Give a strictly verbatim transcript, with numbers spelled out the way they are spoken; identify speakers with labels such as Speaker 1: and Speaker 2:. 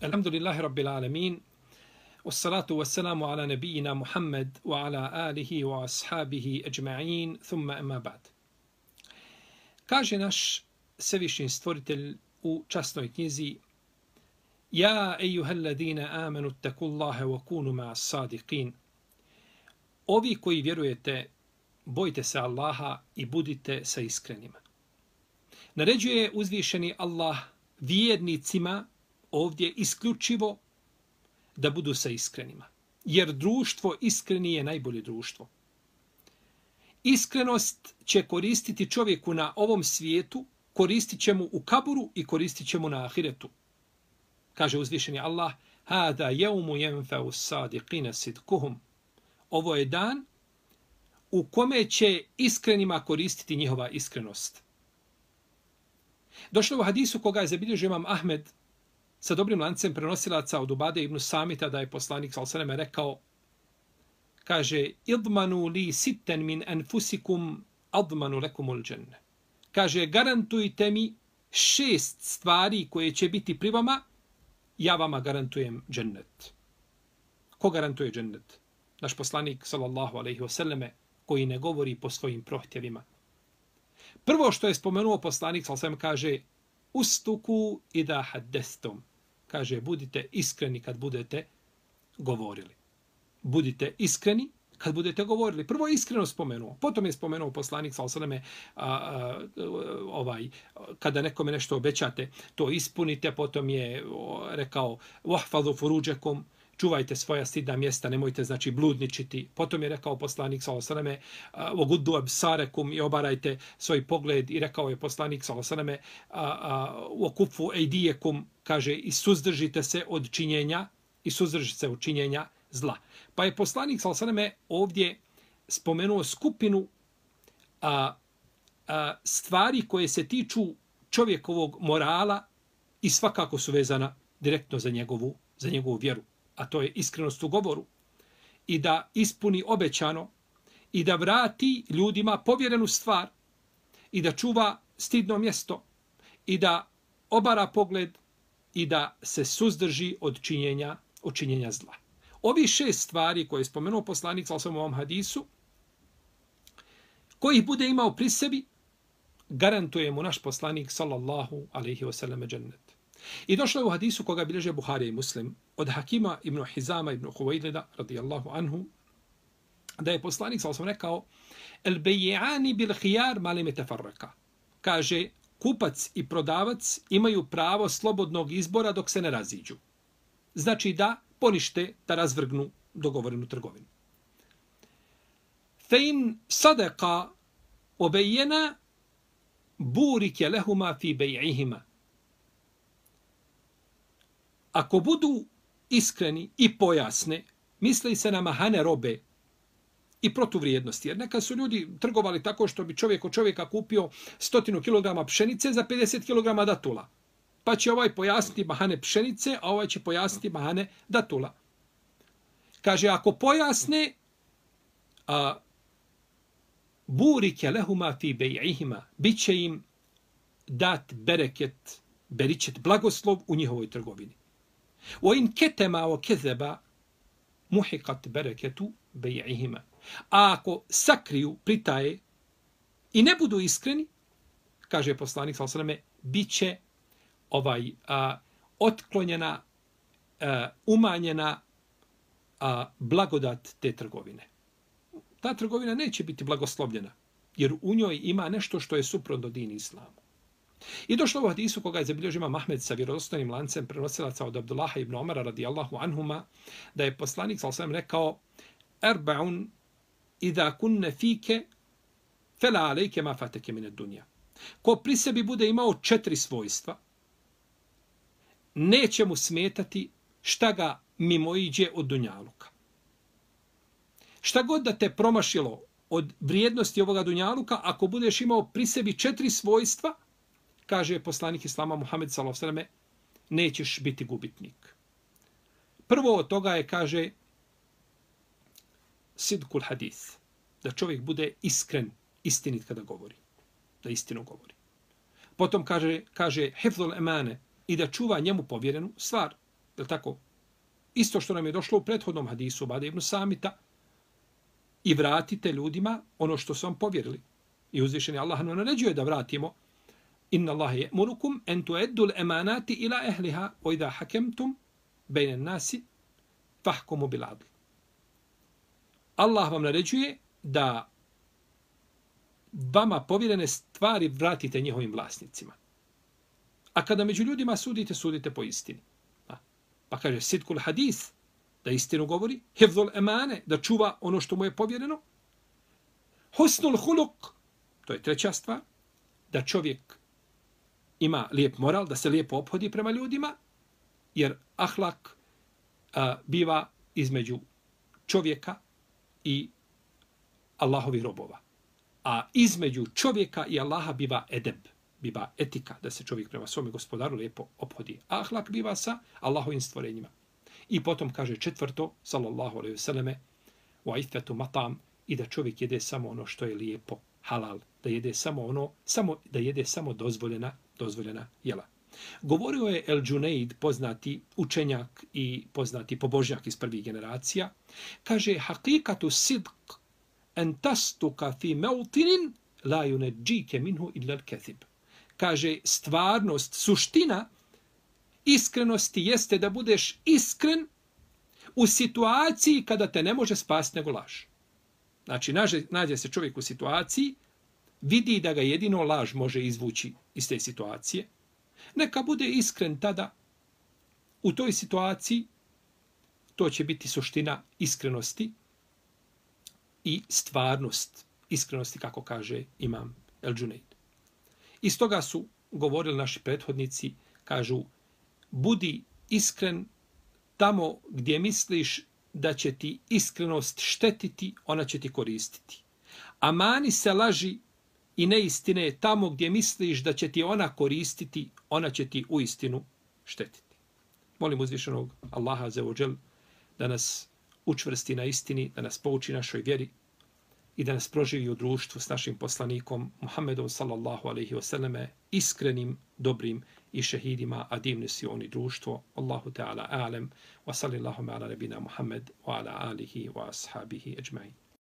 Speaker 1: Alhamdulillahi Rabbil Alamin. Wassalatu wassalamu ala nabijina Muhammad wa ala alihi wa ashabihi ajma'in, thumma amma ba'd. Kaže naš Svevišnji Stvoritelj u časnoj knjizi: Ja ejuhalladina amanu takullaha wa kunu ma'as sadiqin. Ovi koji vjerujete, bojte se Allaha i budite sa iskrenima. Naređuje uzvišeni Allah vjernicima ovdje isključivo da budu sa iskrenima. Jer društvo iskreni je najbolje društvo. Iskrenost će koristiti čovjeku na ovom svijetu, koristit će mu u kaburu i koristit će mu na ahiretu. Kaže uzvišeni Allah: Hada jevmu jenfeu sadiqina sidkuhum. Ovo je dan u kome će iskrenima koristiti njihova iskrenost. Došlo u hadisu koga je zabilježio imam Ahmed sa dobrim lancem prenosilaca od Ubade ibn Samita da je poslanik sallallahu alejhi ve sellem rekao, kaže: Idmanu li sitten min anfusikum admanu lekumul dženne. Kaže: garantujte mi šest stvari koje će biti pri vama, ja vama garantujem džennet. Ko garantuje džennet? Naš poslanik sallallahu alejhi ve selleme, koji ne govori po svojim prohtjevima. Prvo što je spomenuo poslanik sallallahu alejhi ve sellem, kaže: Ustuku ida haddestum. Kaže: budite iskreni kad budete govorili. Budite iskreni kad budete govorili. Prvo je iskreno spomenuo. Potom je spomenuo poslanik sallallahu alejhi ve selleme ovaj kada nekome nešto obećate, to ispunite. Potom je rekao: Wahfazu furuđakum. Čuvajte svoja stidna mjesta, nemojte znači bludničiti. Potom je rekao poslanik sallallahu alejhi ve selleme: "Oguddu absarakum", i obarajte svoj pogled, i rekao je poslanik sallallahu alejhi ve selleme: "Okufu ejdijekum", kaže, i suzdržite se od činjenja i suzdržite se od činjenja zla. Pa je poslanik sallallahu alejhi ve selleme ovdje spomenuo skupinu a, a, stvari koje se tiču čovjekovog morala i svakako su vezana direktno za njegovu za njegovu vjeru. A to je iskrenost u govoru, i da ispuni obećano, i da vrati ljudima povjerenu stvar, i da čuva stidno mjesto, i da obara pogled, i da se suzdrži od činjenja, od činjenja zla. Ovi šest stvari koje je spomenuo poslanik sallallahu alejhi ve sellem u ovom hadisu, koji bude imao pri sebi, garantuje mu naš poslanik sallallahu alejhi ve sellem džennet. I došlo je u hadisu koga bilježe Buharija i Muslim od Hakima ibn Hizama ibn Huwaylida radijallahu anhu, da je poslanik sallallahu alejhi ve sellem rekao: El bej'ani bil khiyar ma lam yatafarraqa. Kaže: kupac i prodavac imaju pravo slobodnog izbora dok se ne raziđu. Znači da ponište, da razvrgnu dogovorenu trgovinu. Fe in sadaqa wa bayyana burike lahuma fi bej'ihima. Ako budu iskreni i pojasne, misli se na mahane robe i protuvrijednosti. Jer neka su ljudi trgovali tako što bi čovjek od čovjeka kupio stotinu kilograma pšenice za pedeset kilograma datula. Pa će ovaj pojasniti mahane pšenice, a ovaj će pojasniti mahane datula. Kaže, ako pojasne, a, burike lehuma fi bej'ihima, bit će im dat bereket, beričet, blagoslov u njihovoj trgovini. وَإِنْ كَتَمَا وَكَذَبَا مُحِقَتْ بَرَكَتُ بَيْعِهِمَا. A ako sakriju, pritaje i ne budu iskreni, kaže poslanik sallallahu alejhi ve selleme, bit će ovaj, a, otklonjena, a, umanjena a, blagodat te trgovine. Ta trgovina neće biti blagoslovljena, jer u njoj ima nešto što je suprotno dini islamu. I došlo u hadisu koga je zabilježio imam Ahmed sa vjerodostojnim lancem prenosilaca od Abdullaha ibn Omara radijallahu anhuma, da je poslanik sallallahu alejhi ve sellem rekao: Arba'un idha kunne fike fela alejke ma fateke min ad-dunya. Ko pri sebi bude imao četiri svojstva, neće mu smetati šta ga mimoiđe od dunjaluka. Šta god da te promašilo od vrijednosti ovoga dunjaluka, ako budeš imao pri sebi četiri svojstva, kaže poslanik Islama Muhammed sallallahu alejhi ve selleme, nećeš biti gubitnik. Prvo od toga je, kaže, sidkul hadis, da čovjek bude iskren, istinit kada govori, da istinu govori. Potom kaže, kaže hifzul emane, i da čuva njemu povjerenu stvar. Je li tako? Isto što nam je došlo u prethodnom hadisu Ubade ibn Samita, i vratite ljudima ono što su vam povjerili. I uzvišeni Allah nam naređuje da vratimo. Inna Allahe je'murukum en tu'eddu l'emanati ila ehliha o idha hakemtum bejne nasi fahkumu bil adl. Allah vam naređuje da vama povjerene stvari vratite njihovim vlasnicima. A kada među ljudima sudite, sudite po istini. Pa kaže sidkul hadis, da istinu govori, hifzul emane, da čuva ono što mu je povjereno, husnul huluk, to je treća stvar, da čovjek ima lijep moral, da se lijepo ophodi prema ljudima, jer ahlak a, biva između čovjeka i Allahovih robova. A između čovjeka i Allaha biva edeb, biva etika, da se čovjek prema svome gospodaru lijepo ophodi. A ahlak biva sa Allahovim stvorenjima. I potom kaže četvrto, sallallahu alejhi ve selleme, wa iffatu matam, i da čovjek jede samo ono što je lijepo, halal, da jede samo ono, samo da jede samo dozvoljena, dozvoljena jela. Govorio je El Džunejd, poznati učenjak i poznati pobožnjak iz prvih generacija, kaže hakikatu sidq en tastuka fi mautinin la yunajjike minhu illa al-kadhib. Kaže stvarnost, suština iskrenosti jeste da budeš iskren u situaciji kada te ne može spasiti nego laž. Znači, nađe, nađe se čovjek u situaciji, vidi da ga jedino laž može izvući iz te situacije. Neka bude iskren tada u toj situaciji, to će biti suština iskrenosti i stvarnost iskrenosti, kako kaže imam El Džunejd. Iz toga su govorili naši prethodnici, kažu, budi iskren tamo gdje misliš da će ti iskrenost štetiti, ona će ti koristiti. A mani se laži i neistine tamo gdje misliš da će ti ona koristiti, ona će ti uistinu štetiti. Molim uzvišenog Allaha azza wa džel da nas učvrsti na istini, da nas pouči našoj vjeri i da nas proživi u društvu s našim poslanikom Muhammedom sallallahu alejhi ve selleme, iskrenim, dobrim i šehidima, a divni si oni društvo. Allahu ta'ala a'lem, wa sallallahu ala nabina Muhammed wa ala alihi wa ashabihi ajma'in.